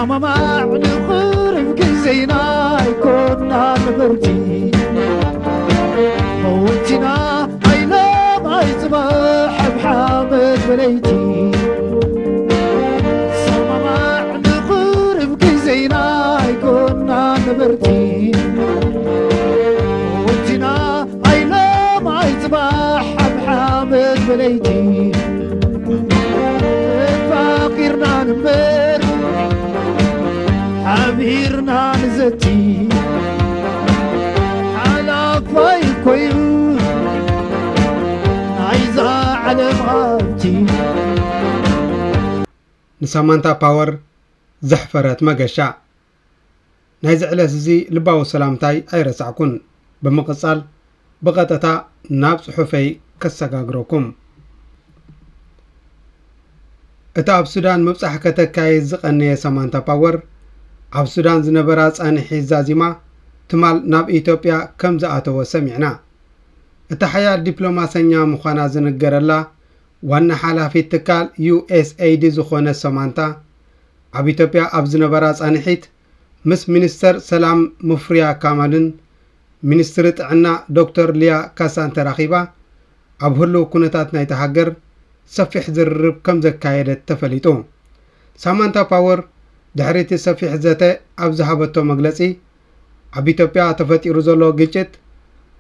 ሰማማዕ ንኽርብ ግዜና ኣይኮና ነበርቲ። መወቲና ኣይለም ኣይጽባሕ ኣብ ሓመድ በለይቲ። ሰማማዕ ንኽርብ ግዜና ኣይኮና ነበርቲ። መወቲና ኣይለም ኣይጽባሕ ኣብ ሓመድ በለይቲ። ተፋቒርና ንንበር ሓቢርና ንዘቲ። ሓላፋይ ኮይኑ ናይዛ ዓለም ሃብቲ። ንሳማንታ ፓወር ዘሕፈረት መገሻ። ናይዚ ዕለት እዚ ልባዊ ሰላምታይ ኣይረሳዕኩን። ብምቕጻል ብቐጥታ ናብ ጽሑፈይ ከሰጋግረኩም። እታ ኣብ ሱዳን ምብጻሕ ከተካይድ ዝቐነየ ሳማንታ ፓወር፣ ኣብ ሱዳን ዝነበራ ጻንሒት ዛዚማ ትማል ናብ ኢትዮጵያ ከም ዝኣተወ ሰሚዕና። እታ ሓያል ዲፕሎማሰኛ ምዃና ዝንገረላ ዋና ሓላፊት ትካል ዩ ኤስ ኤይ ዲ ዝኾነት ሳማንታ፣ ኣብ ኢትዮጵያ ኣብ ዝነበራ ጻንሒት ምስ ሚኒስተር ሰላም ሙፍሪያ ካማልን ሚኒስትሪ ጥዕና ዶክተር ሊያ ካሳን ተራኺባ ኣብ ህሉው ኩነታት ናይታ ሃገር ሰፊሕ ዝርርብ ከም ዘካየደት ተፈሊጡ። ሳማንታ ፓወር ድሕሪ እቲ ሰፊሕ ዘተ ኣብ ዝሃበቶ መግለጺ፣ ኣብ ኢትዮጵያ ተፈጢሩ ዘሎ ግጭት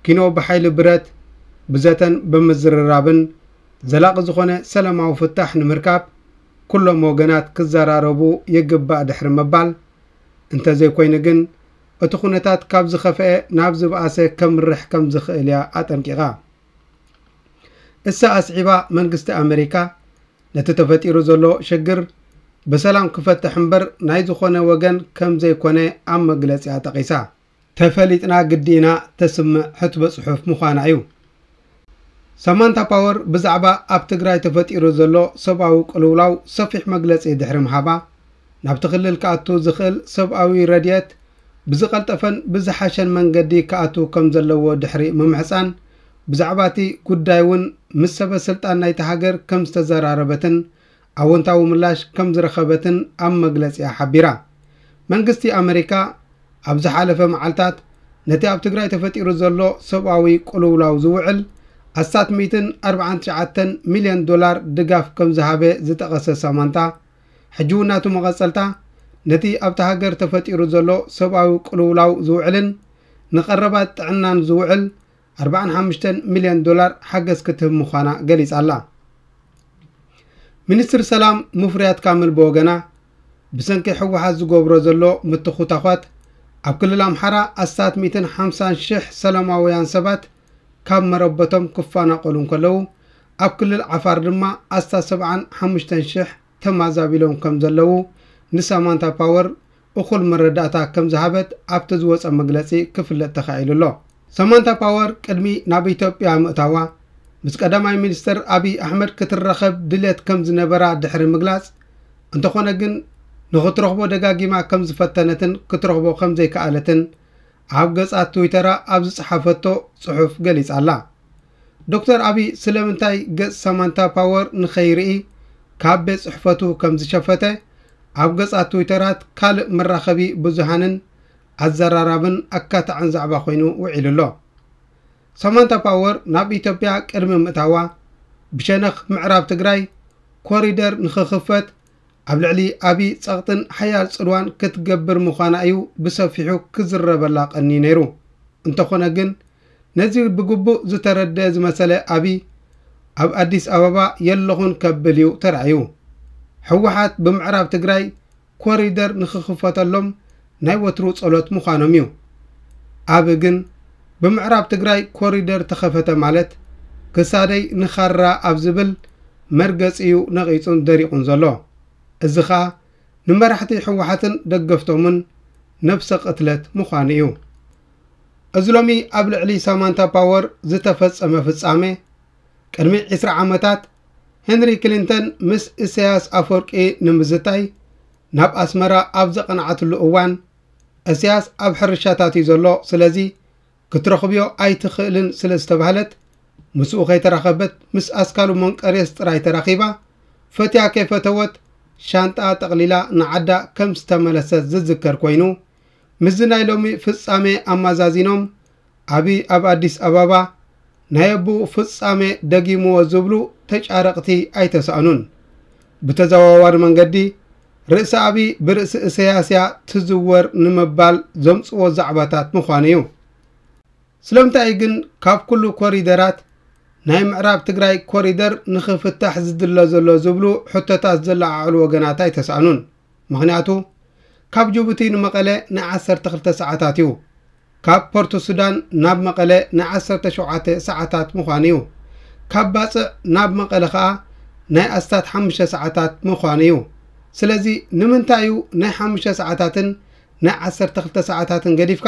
ኪኖ ብሓይሊ ብረት፣ ብዘተን ብምዝርራብን ዘላቒ ዝኾነ ሰላማዊ ፍታሕ ንምርካብ ኩሎም ወገናት ክዘራረቡ ይግባእ ድሕሪ ምባል፣ እንተዘይኮይኑ ግን እቲ ኩነታት ካብ ዝኸፍአ ናብ ዝበኣሰ ከምርሕ ከም ዝኽእል እያ ኣጠንቂቓ። እሳ ኣስዒባ፣ መንግስቲ ኣመሪካ ነቲ ተፈጢሩ ዘሎ ሽግር ብሰላም ክፈትሕ እምበር ናይ ዝኾነ ወገን ከም ዘይኮነ ኣብ መግለጺኣ ጠቒሳ። ተፈሊጥና ግዲ ኢና ተስምዕ ሕትበ ጽሑፍ ምዃና እዩ። ሳማንታ ፓወር ብዛዕባ ኣብ ትግራይ ተፈጢሩ ዘሎ ሰብኣዊ ቅልውላው ሰፊሕ መግለጺ ድሕሪ ምሃባ፣ ናብቲ ክልል ክኣቱ ዝኽእል ሰብኣዊ ረድኤት ብዝቐልጠፈን ብዝሓሸን መንገዲ ክኣቱ ከም ዘለዎ ድሕሪ ምምሕጻን፣ ብዛዕባ እቲ ጉዳይ እውን ምስ ሰበ ስልጣን ናይቲ ሃገር ከም ዝተዘራረበትን ኣወንታዊ ምላሽ ከም ዝረኸበትን ኣብ መግለጺኣ ሓቢራ። መንግስቲ ኣመሪካ ኣብ ዝሓለፈ መዓልታት ነቲ ኣብ ትግራይ ተፈጢሩ ዘሎ ሰብኣዊ ቅልውላው ዝውዕል ኣስታት ሚእትን ኣርባዓን ትሽዓተን ሚልዮን ዶላር ድጋፍ ከም ዝሃበ ዝጠቐሰ ሳማንታ፣ ሕጂ እውን ናቱ መቐጸልታ ነቲ ኣብታ ሃገር ተፈጢሩ ዘሎ ሰብኣዊ ቅልውላው ዝውዕልን ንቐረባት ጥዕናን ዝውዕል ኣርባዓን ሓሙሽተን ሚልዮን ዶላር ሓገዝ ክትህብ ምዃና ገሊጻ ኣላ። ሚኒስትር ሰላም ሙፍሪያት ካምል ብወገና፣ ብሰንኪ ህወሓት ዝገብሮ ዘሎ ምትኹታዃት ኣብ ክልል ኣምሓራ ኣስታት ሚእትን ሓምሳን ሽሕ ሰላማውያን ሰባት ካብ መረበቶም ክፈናቐሉ እንከለዉ፣ ኣብ ክልል ዓፋር ድማ ኣስታት ሰብዓን ሓሙሽተን ሽሕ ተማዛቢሎም ከም ዘለዉ ንሳማንታ ፓወር እኹል መረዳእታ ከም ዝሃበት ኣብቲ ዝወጸ መግለጺ ክፍለጥ ተኻኢሉ ኣሎ። ሳማንታ ፓወር ቅድሚ ናብ ኢትዮጵያ ምእታዋ ምስ ቀዳማይ ሚኒስትር ኣቢይ ኣሕመድ ክትራኸብ ድልየት ከም ዝነበራ ድሕሪ ምግላጽ፣ እንተኾነ ግን ንኽትረኽቦ ደጋጊማ ከም ዝፈተነትን ክትረኽቦ ከም ዘይከኣለትን ኣብ ገጻት ትዊተራ ኣብ ዝጸሓፈቶ ጽሑፍ ገሊጻ ኣላ። ዶክተር ኣቢይ ስለምንታይ ገጽ ሳማንታ ፓወር ንኸይርኢ ካብ ቤት ጽሕፈቱ ከም ዝሸፈተ ኣብ ገጻት ትዊተራት ካልእ መራኸቢ ብዙሃንን ኣዘራራብን ኣካታዕን ዛዕባ ኮይኑ ውዒሉ ኣሎ። ሳማንታ ፓወር ናብ ኢትዮጵያ ቅድሚ ምእታዋ ብሸነኽ ምዕራብ ትግራይ ኮሪደር ንኽኽፈት ኣብ ልዕሊ ኣቢይ ጸቕጥን ሓያል ጽልዋን ክትገብር ምዃና እዩ ብሰፊሑ ክዝረበላ ቀንዩ ነይሩ። እንተኾነ ግን ነዚ ብግቡእ ዝተረድአ ዝመሰለ ኣቢይ ኣብ ኣዲስ ኣበባ የለኹን ከብል እዩ ተራእዩ። ህወሓት ብምዕራብ ትግራይ ኮሪደር ንኽኽፈተሎም ናይ ወትሩ ጸሎት ምዃኖም እዩ። ኣቢ ግን ብምዕራብ ትግራይ ኮሪደር ተኸፈተ ማለት ክሳደይ ንኻራ ኣብ ዝብል መርገጺ እዩ ነቒጹን ደሪቑን ዘሎ። እዚ ኸኣ ንመራሕቲ ህወሓትን ደገፍቶምን ነብሰ ቅትለት ምዃኑ እዩ። እዚ ሎሚ ኣብ ልዕሊ ሳማንታ ፓወር ዝተፈጸመ ፍጻሜ፣ ቅድሚ ዕስራ ዓመታት ሄንሪ ክሊንተን ምስ ኢሳያስ ኣፈወርቂ ንምዝታይ ናብ ኣስመራ ኣብ ዘቐንዓትሉ እዋን፣ ኢሳያስ ኣብ ሕርሻታት እዩ ዘሎ፣ ስለዚ ክትረኽብዮ ኣይትኽእልን ስለ ዝተባህለት፣ ምስኡ ከይተራኸበት ምስ ኣስካሉ መንቀርየስ ጥራይ ተራኺባ፣ ፈትያ ከይፈተወት ሻንጣኣ ጠቕሊላ ንዓዳ ከም ዝተመለሰት ዝዝከር ኮይኑ፣ ምስዚ ናይ ሎሚ ፍጻሜ ኣመዛዚኖም፣ ኣብይ ኣብ ኣዲስ ኣበባ ናይ ኣቦኡ ፍጻሜ ደጊምዎ ዝብሉ ተጫረቕቲ ኣይተሳእኑን። ብተዘዋዋሪ መንገዲ፣ ርእሲ ኣብይ ብርእሲ እሰያስ እያ ትዝወር ንምባል ዘምጽዎ ዛዕባታት ምዃኑ እዩ። ስለምንታይ ግን ካብ ኩሉ ኮሪደራት ናይ ምዕራብ ትግራይ ኮሪደር ንኽፍታሕ ዝድለ ዘሎ ዝብሉ ሕቶታት ዘለዓዕሉ ወገናት ኣይተሳእኑን። ምኽንያቱ፣ ካብ ጅቡቲ ንመቐለ ናይ ዓሰርተ ክልተ ሰዓታት እዩ። ካብ ፖርት ሱዳን ናብ መቐለ ናይ ዓሰርተ ሸውዓተ ሰዓታት ምዃኑ እዩ። ካብ ባጽዕ ናብ መቐለ ኸኣ ናይ ኣስታት ሓሙሽተ ሰዓታት ምዃኑ እዩ። ስለዚ ንምንታይ እዩ ናይ ሓሙሽተ ሰዓታትን ናይ ዓሰርተ ክልተ ሰዓታትን ገዲፍካ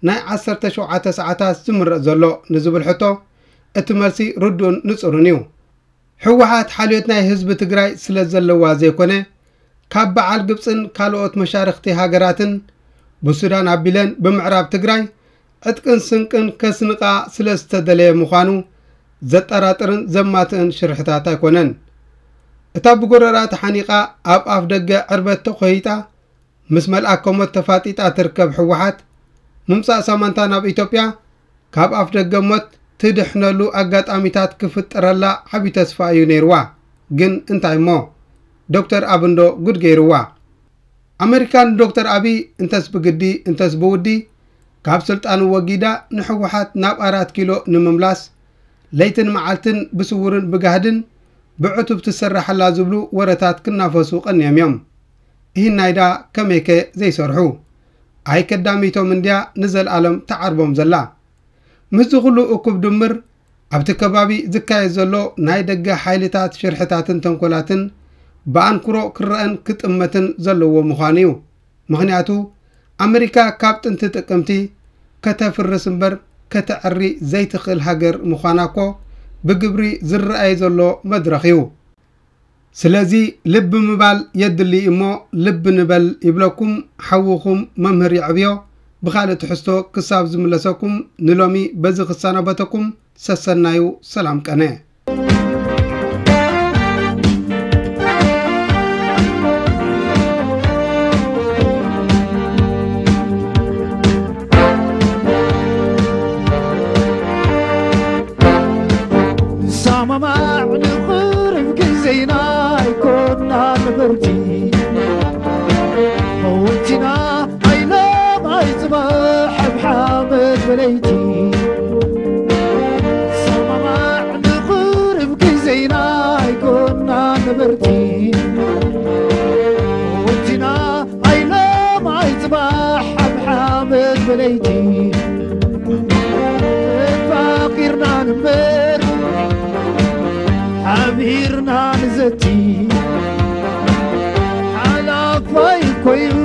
ናይ ዓሰርተ ሸውዓተ ሰዓታት ዝምረጽ ዘሎ ንዝብል ሕቶ፣ እቲ መልሲ ርዱእን ንጹርን እዩ። ህወሓት ሓልዮት ናይ ህዝቢ ትግራይ ስለ ዘለዋ ዘይኮነ፣ ካብ በዓል ግብጽን ካልኦት መሻርኽቲ ሃገራትን ብሱዳን ኣቢለን ብምዕራብ ትግራይ ዕጥቅን ስንቅን ከስንቃ ስለ ዝተደለየ ምዃኑ ዘጠራጥርን ዘማትእን ሽርሕታት ኣይኮነን። እታ ብጎረራ ተሓኒቓ ኣብ ኣፍ ደገ ዕርበት ተኾይጣ ምስ መልኣከ ሞት ተፋጢጣ ትርከብ ህወሓት፣ ምምጻእ ሳማንታ ናብ ኢትዮጵያ ካብ ኣፍ ደገ ሞት ትድሕነሉ ኣጋጣሚታት ክፍጠረላ ዓቢ ተስፋ እዩ ነይርዋ። ግን እንታይ እሞ፣ ዶክተር ኣብንዶ ጉድ ገይርዋ። ኣመሪካ ንዶክተር ኣብይ እንተስ ብግዲ እንተስ ብውዲ ካብ ስልጣኑ ወጊዳ ንህወሓት ናብ ኣራት ኪሎ ንምምላስ ለይትን መዓልትን ብስውርን ብጋህድን ብዕቱብ ትሰራሓላ ዝብሉ ወረታት ክናፈሱ ቀንዮም እዮም። እሂናይ ዳ ከመይከ ዘይሰርሑ? ኣይከዳሚቶም እንድያ ንዘልኣለም ተዓርቦም ዘላ። ምስዚ ኩሉ እኩብ ድምር ኣብቲ ከባቢ ዝካየድ ዘሎ ናይ ደገ ሓይልታት ሽርሕታትን ተንኮላትን ብኣንክሮ ክረአን ክጥመትን ዘለዎ ምዃኑ እዩ። ምኽንያቱ ኣመሪካ ካብ ጥንቲ ጥቅምቲ ከተፍርስ እምበር ከተዕሪ ዘይትኽእል ሃገር ምዃና እኮ ብግብሪ ዝረኣይ ዘሎ መድረኽ እዩ። ስለዚ ልቢ ምባል የድሊ እሞ ልቢ ንበል ይብለኩም ሓውኹም መምህር የዕብዮ። ብኻልእ ትሕዝቶ ክሳብ ዝምለሰኩም ንሎሚ በዚ ክሰናበተኩም ሰሰናዩ ሰላም ቀነ። ንሰማማዕ ንኽርብ ግዜና ኣይኮና ነበርቲ። መወቲና ኣይለም ኣይጽባሕ ኣብ ሓመድ በለይቲ። ንሰማማዕ ንኽርብ ግዜና ኣይኮና ነበርቲ። መወቲና ኣይለም ኣይጽባሕ ኣብ ሓመድ በለይቲ። ተፋቒርና ንንበር ሓቢርና ንዘቲ። ሓላፋይ እኮ እዩ